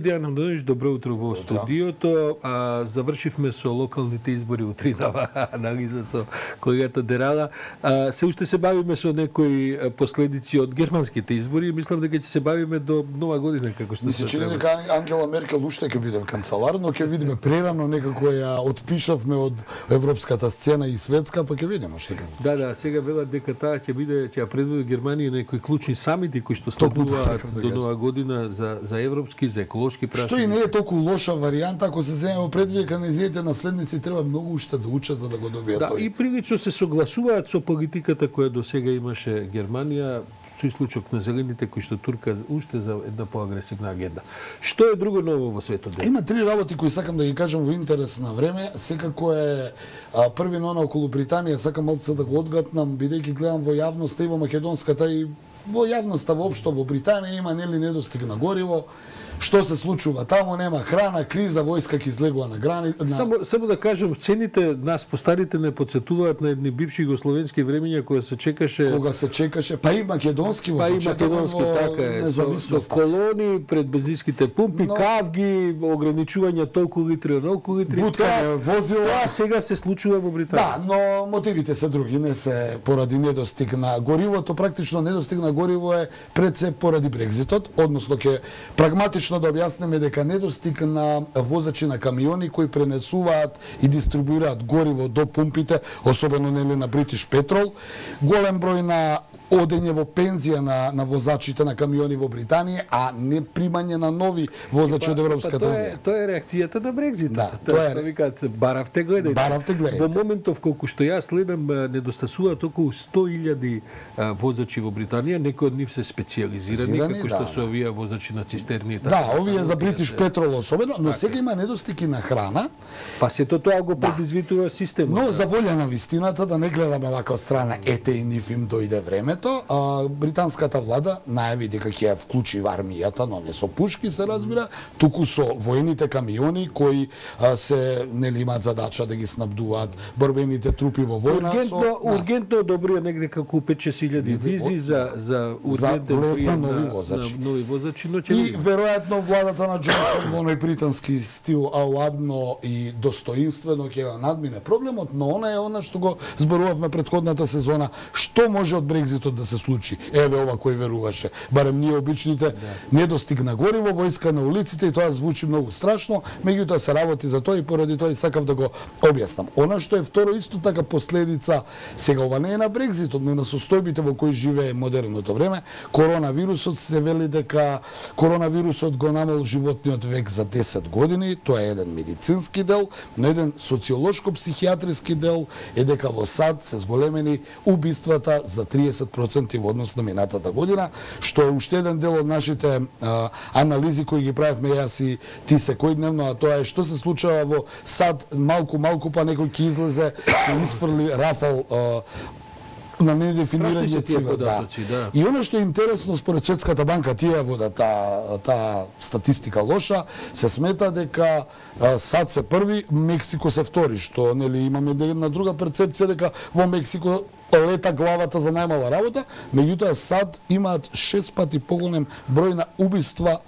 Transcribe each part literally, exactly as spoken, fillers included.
Дејан Андонович, добро утро во студиото. А, завршивме со локалните избори утринава, анализа со колегата Дерала. А, се уште се бавиме со некои последици од германските избори и мислам дека ќе се бавиме до нова година, како што се чини дека Ангела Меркел уште ќе биде канцелар, но ќе видиме прерано некако ја отпишавме од европската сцена и светска, па ќе видиме што ќе се. Да, да, сега велат дека таа ќе биде, ќе ја предводи Германија некои клучни самити кои што следуваат до нова година за за европски, за еколошки. Што и не е толку лоша варијанта, ако се земе во предвид дека нејзините наследници треба многу уште да учат за да го добијат да, тој. И прилично се согласуваат со политиката која до сега имаше Германија, со исклучок на зелените кои што турка уште за една поагресивна агенда. Што е друго ново во светот? Има три работи кои сакам да ги кажам во интерес на време. Секако е а, први нона околу Британија, сакам малце да го одгатнам, бидејќи гледам во јавноста и во македонската и во јавноста воопшто во Британија има нели недостиг на гориво. Што се случува таму, нема храна, криза, војска ќе излегува на грани. На... Само само да кажам, цените нас постарите не подсетуваат на едни бивши југословенски времиња кога се чекаше кога се чекаше, па и македонски во па и македонски така е, со, со колони пред бензинските пумпи, но... кавги, ограничување толку литри, толку литри. Буткање возила. Тоа сега се случува во Британија. Да, но мотивите се други, не се поради недостиг на горивото, практично недостиг на гориво е пред се поради Брекзитот, односно ќе прагматично да објасниме дека недостиг на возачи на камиони кои пренесуваат и дистрибуираат гориво до пумпите, особено нели на British Petrol, голем број на одење во пензија на, на возачите на камиони во Британија, а не примање на нови возачи па, од Европската па, унија. Тоа е реакцијата на Брекзитот. Да, тоа е. Викаат баравте гледајте. Баравте гледајте. Во моментов колку што јас следам недостасуваат околу сто илјади возачи во Британија, некои од нив се специјализирани, како што да. се овие возачи на цистерни и така. Да, овие за British Petrol особено, но сега има недостиг и на храна. Па сето тоа го предизвикува системот. Но за волја на вистината да не гледаме вака од страна, ете и нив им дојде време. А, британската влада најави дека ќе ја вклучи во армијата, но не со пушки се разбира, туку со воените камиони кои а, се нели имаат задача да ги снабдуваат борбените трупи во војна. Ургентно, со, ургентно одобрија негде како пет-шест илјади визи за за ургентен прием нови возачи. На нови возачи, но ќе и веројатно владата на Џонсон во оној британски стил аладно и достоинствено ќе го надмине проблемот, но она е она што го зборувавме претходната сезона, што може од Брекзитот да се случи. Еве ова кој веруваше. Барем ние обичните, да. Недостиг на гориво, војска на улиците и тоа звучи многу страшно, меѓутоа се работи за тоа и поради тоа и сакав да го објаснам. Она што е второ исто така последица, сега ова не е на Брекзитот, но на состојбите во кои живее модерното време, коронавирусот се вели дека коронавирусот го намал животниот век за десет години, тоа е еден медицински дел, но еден социолошко-психијатриски дел е дека во САД се зголемени убиствата за триесет проценти во однос на минатата година, што е уште еден дел од нашите а, анализи кои ги правевме јас и ти секојдневно, а тоа е што се случува во САД, малку малку па некој ќе излезе и изфрли рафал а, на недефинирање цивил. Да. Да. И оно што е интересно според Светската банка, тие во да таа та статистика лоша, се смета дека а, САД се први, Мексико се втори, што нели имаме една друга перцепција дека во Мексико лета главата за најмала работа, меѓутоа САД имаат шест пати поголем број на убиства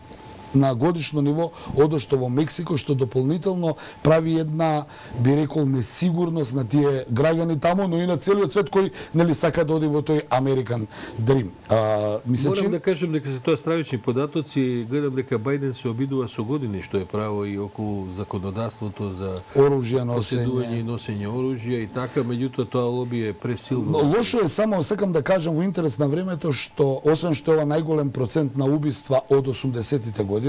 на годишно ниво од што во Мексико, што дополнително прави една, би рекол, несигурност на тие граѓани таму, но и на целиот свет кој нели сака да оди во тој American Dream. А, мисля, Морам че... да кажем дека се тоа стравични податоци, гледам дека Бајден се обидува со години што е право и околу законодавството за оружје поседување и носење оружје и така, меѓутоа тоа лоби е пресилно. Лошо е само, сакам да кажам во интерес на времето, што освен што е ова најголем процент на убиства од осумдесетите години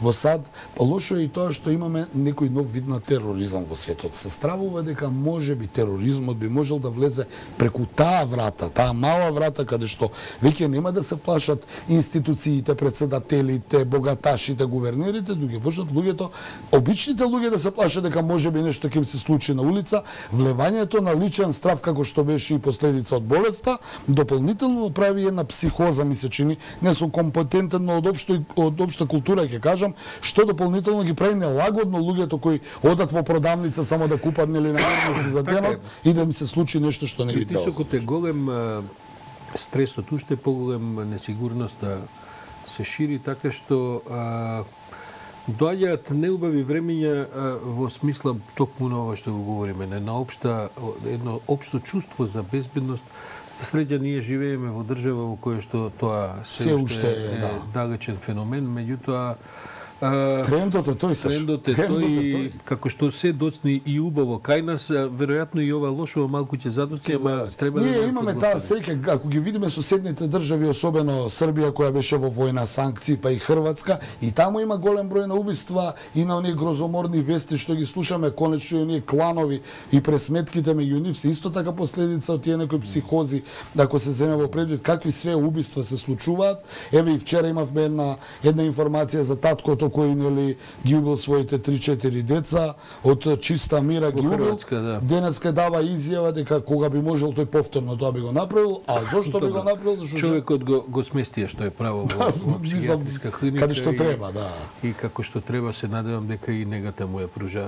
во САД, лошо е и тоа што имаме некој нов вид на тероризам во светот. Се стравува дека може би тероризмот би можел да влезе преку таа врата, таа мала врата каде што веќе нема да се плашат институциите, председателите, богаташите, гувернерите, дуќе почнат луѓето, обичните луѓе да се плашат дека може би нешто ќе се случи на улица, влевањето на личен страв како што беше и последица од болеста, дополнително прави една психоза, ми се чини, не со компетентен, но од општо од општа култура ќе кажам, што дополнително ги прави нелагодно луѓето кои одат во продавница само да купат нели намирници за денот и да им се случи нешто што не би требало. Притисокот е голем, стресот уште поголем, несигурноста се шири така што а, Доаѓаат неубави времиња во смисла токму на ова што го говориме, не на општа едно општо чувство за безбедност. Среќа ние живееме во држава во која што тоа се уште е да. далечен феномен, меѓутоа трендот е тој, трендот е тој, како што се доцни и убаво кај нас, веројатно и ова лошо малку ќе задоци, ама треба ние да имаме таа среќа, ако ги видиме соседните држави, особено Србија која беше во војна, санкции, па и Хрватска, и таму има голем број на убиства и на оние грозоморни вести што ги слушаме, конечно и оние кланови и пресметките меѓу нив се исто така последица од тие некои психози, ако се земе во предвид какви све убиства се случуваат. Еве и вчера имавме една една информација за таткото кој нели ги убил своите три-четири деца, од чиста мира ги убил. Да. Денеска дава изјава дека кога би можел тој повторно тоа би го направил, а зошто би го направил? Зашто човекот го го сместија што е право во, во психијатриска клиника. Каде што и, треба, да. И како што треба, се надевам дека и негата му ја пружаат.